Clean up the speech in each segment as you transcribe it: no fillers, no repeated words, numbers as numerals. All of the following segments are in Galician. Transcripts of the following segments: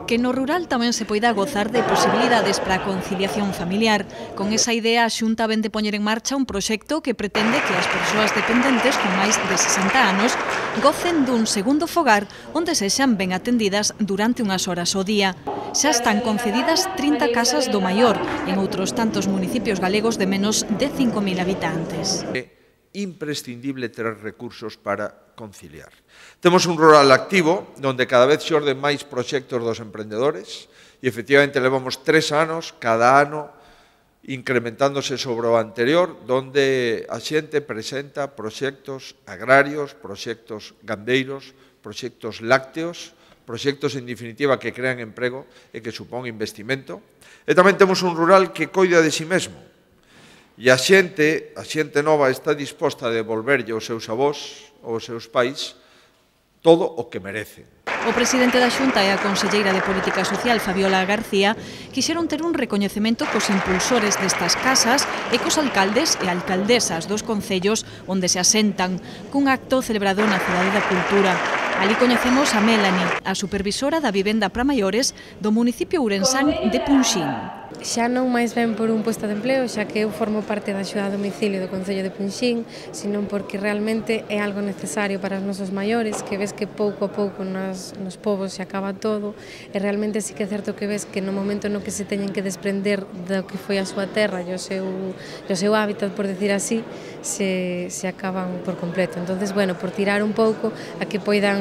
Que no rural tamén se poida gozar de posibilidades para a conciliación familiar. Con esa idea, a Xunta vén de poñer en marcha un proxecto que pretende que as persoas dependentes con máis de 60 anos gocen dun segundo fogar onde sexan ben atendidas durante unhas horas ao día. Xa están concedidas 30 casas do maior en outros tantos municipios galegos de menos de 5.000 habitantes. Imprescindible ter recursos para conciliar. Temos un rural activo, onde cada vez xorden máis proxectos dos emprendedores e, efectivamente, levamos 3 anos, cada ano, incrementándose sobre o anterior, onde a xente presenta proxectos agrarios, proxectos gandeiros, proxectos lácteos, proxectos, en definitiva, que crean emprego e que supón investimento. E tamén temos un rural que coida de si mesmo. E a xente nova está disposta a devolverlle aos seus avós ou aos seus pais todo o que merecen. O presidente da Xunta e a conselleira de Política Social, Fabiola García, quixeron ter un recoñecemento cos impulsores destas casas e cos alcaldes e alcaldesas dos concellos onde se asentan, cun acto celebrado na Cidade da Cultura. Ali coñecemos a Melanie, a supervisora da vivenda para maiores do municipio ourensán de Punxín. Xa non máis ben por un posto de empleo, xa que eu formo parte da axuda a domicilio do Concello de Punxín, senón porque realmente é algo necesario para os nosos maiores, que ves que pouco a pouco nos povos se acaba todo, e realmente sí que é certo que ves que no momento no que se teñen que desprender do que foi a súa terra e o seu hábitat, por decir así, se acaban por completo. Entonces, bueno, por tirar un pouco a que poidan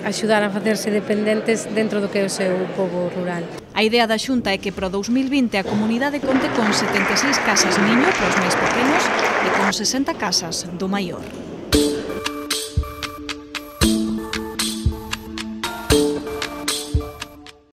axudar a facerse dependentes dentro do que é o seu pobo rural. A idea da Xunta é que para o 2020 a comunidade conte con 76 casas niño para os máis pequenos e con 60 casas do maior.